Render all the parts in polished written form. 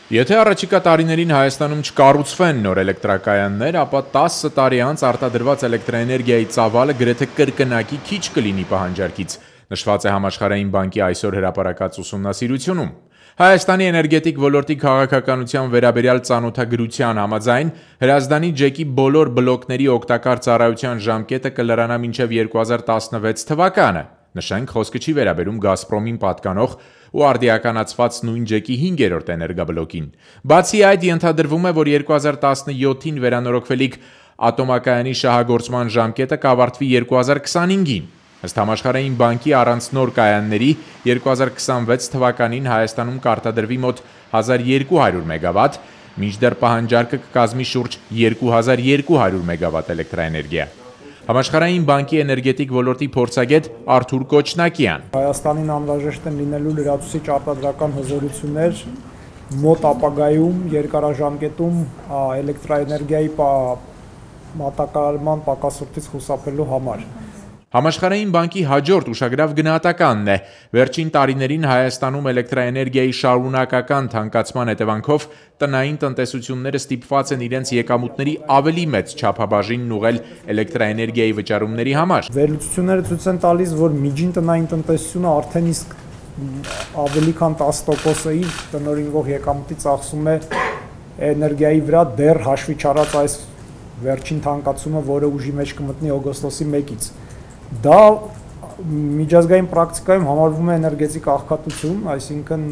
Եթե առաջիկա տարիներին Հայաստանում չկառուցվեն նոր էլեկտրակայաններ, ապա 10 տարի անց արտադրված էլեկտրաէներգիայի ծավալը գրեթե կրկնակի քիչ կլինի պահանջարկից, նշված է Համաշխարհային բանկի այսօր հրապարակած ուսումնասիրությունում։ Հայաստանի էներգետիկ ոլորտի քաղաքականության վերաբերյալ ծանոթագրության համաձայն Հրազդանի ջեկի բոլոր բլոկների օգտակար ծառայության ժամկետը կլրանա մինչև 2016 թվականը։ Նշենք, խոսքը չի վերաբերում Գազպրոմին պատկանող ու արդիականացված նույն ջեկի 5-րդ էներգաբլոկին։ Բացի այդ, ենթադրվում է, որ 2017-ին վերանորոգվելիք ատոմակայանի շահագործման ժամկետը կավարտվի 2025-ին։ Ըստ Համաշխարհային բանկի, առանց նոր կայանների 2026 թվականին Հայաստանում կարտադրվի մոտ 1200 մեգավատ, մինչդեռ պահանջարկը կկազմի շուրջ 2200 մեգավատ էլեկտրաէներգիա։ Համաշխարհային բանկի էներգետիկ ոլորտի փորձագետ Արթուր Կոչնակյան. Հայաստանին անհրաժեշտ են լինելու լրացուցիչ արտադրական հզորություններ մոտ ապագայում երկարաժամկետում էլեկտրաէներգիայի մատակարարման պակասությունից խուսափելու համար։ Համաշխարհային բանկի հաջորդ ուշագրավ գնահատականն է. վերջին տարիներին Հայաստանում էլեկտրաէներգիայի շարունակական թանկացման հետևանքով տնային տնտեսությունները ստիպված են իրենց եկամուտների ավելի մեծ չափաբաժինն ուղղել էլեկտրաէներգիայի վճարումների համար։ Վերլուծությունները ցույց են տալիս, որ միջին տնային տնտեսությունը արդեն իսկ ավելի քան 10% իր տնօրինվող եկամուտից ծախսում է էներգիայի վրա, դեռ հաշվի չառած այս վերջին թանկացումը, որը ուժի մեջ կմտնի օգոստոսի 1-ից։ Դա միջազգային պրակտիկայում համարվում է էներգետիկ աղքատություն, այսինքն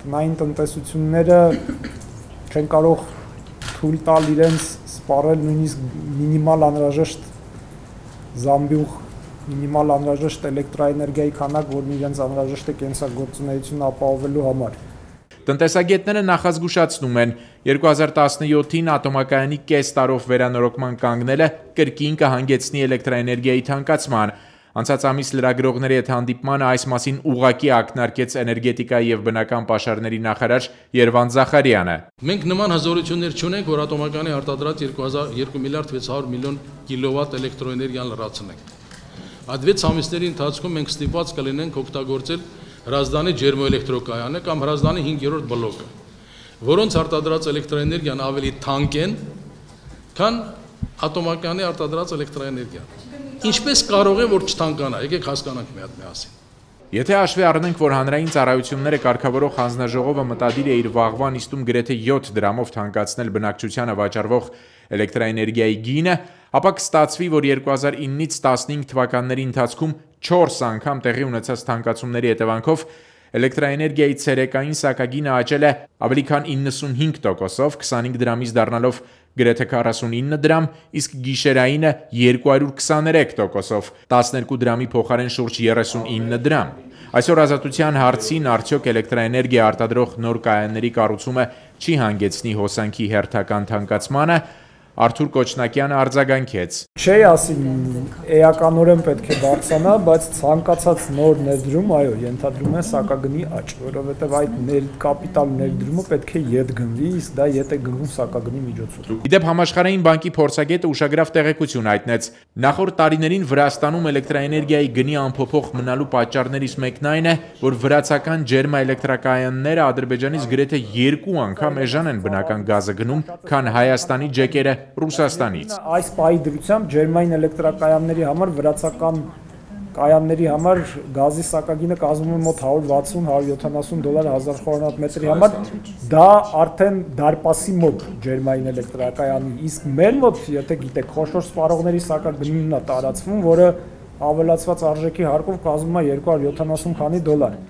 տնային տնտեսությունները չեն կարող թույլ տալ իրենց սպառել նույնիսկ մինիմալ անհրաժեշտ զամբյուղ, մինիմալ անհրաժեշտ էլեկտրաէներգիայի քանակ, որն իրենց անհրաժեշտ է կենսագործունեությունը ապահովելու համար։ Տնտեսագետները նախազգուշացնում են, 2017-ին ատոմակայանի կես տարով վերանորոգման կանգնելը կրկին կհանգեցնի էլեկտրաէներգիայի թանկացման։ Անցած ամիս լրագրողների հետ հանդիպմանը այս մասին ուղղակի ակնարկեց էներգետիկայի եւ բնական պաշարների նախարար Երվանդ Զախարյանը։ Մենք նման հզորություններ չունենք, որ ատոմակայանի արտադրած 2 միլիարդ 600 միլիոն կիլովատ էլեկտրոէներգիան լրացնենք։ Այդ 6 ամիսների ընթացքում մենք ստիպված կլինենք օգտագործել Հրազդանի ջերմոէլեկտրոկայանը կամ Հրազդանի 5-րդ բլոկը, որոնց արտադրած էլեկտրաէներգիան ավելի թանկ են, քան ատոմակայանի արտադրած էլեկտրաէներգիան։ Ինչպես կարող է որ չթանկանա, եկեք հասկանանք մի հատ միասին։ Եթե հաշվի առնենք, որ հանրային ծառայությունները կարգավորող հանձնաժողովը մտադիր է իր վաղվա նիստում գրեթե 7 դրամով թանկացնել բնակչությանը վաճառվող էլեկտրաէներգիայի գինը, ապա կստացվի, որ 2009-ից 15 թվականների ընթացքում 4 անգամ տեղի ունեցած թանկացումների հետևանքով էլեկտրաէներգիայի ցերեկային սակագինը աճել է ավելի քան 95%-ով, 25 դրամից դառնալով գրեթե 49 դրամ, իսկ գիշերայինը 223%-ով, 12 դրամի փոխարեն շուրջ 39 դրամ։ Այսօր Ազատության հարցին արդյոք էլեկտրաէներգիա արտադրող նոր կայանների կառուցումը չի հանգեցնի հոսանքի հերթական թանկացմանը, Արթուր Կոչնակյանը արձագանքեց. Չի ասի էականորեն պետք է բարձրանա, բայց ցանկացած նոր ներդրում, այո, ենթադրում է սակագնի աճ, որովհետև այդ կապիտալ ներդրումը պետք է ետ գնվի, իսկ դա ետ է գնվում սակագնի միջոցով։ Իդեպ Համաշխարհային բանկի փորձագետը ուշագրավ տեղեկություն հայտնեց. նախորդ տարիներին Վրաստանում էլեկտրաէներգիայի գնի անփոփոխ մնալու պատճառներից մեկն այն է, որ վրացական ջերմաէլեկտրակայանները Ադրբեջանից գրեթե 2 անգամ էժան են բնական գազը գնում, քան Հայաստանի ջեկերը Ռուսաստանից։ Այս պահի դրությամբ ջերմային էլեկտրակայանների համար վրացական կայանների համար գազի սակագինը կազմում է մոտ $160-170 1000 խորանարդ համար, դա արդեն դարպասի մոտ ջերմային էլեկտրակայանի, իսկ մեր մոտ, եթե գիտեք, խոշոր սպառողների սակագինն է տարածվում, որը ավելացված արժեքի հարկով կազմում է $270 քանի դոլար։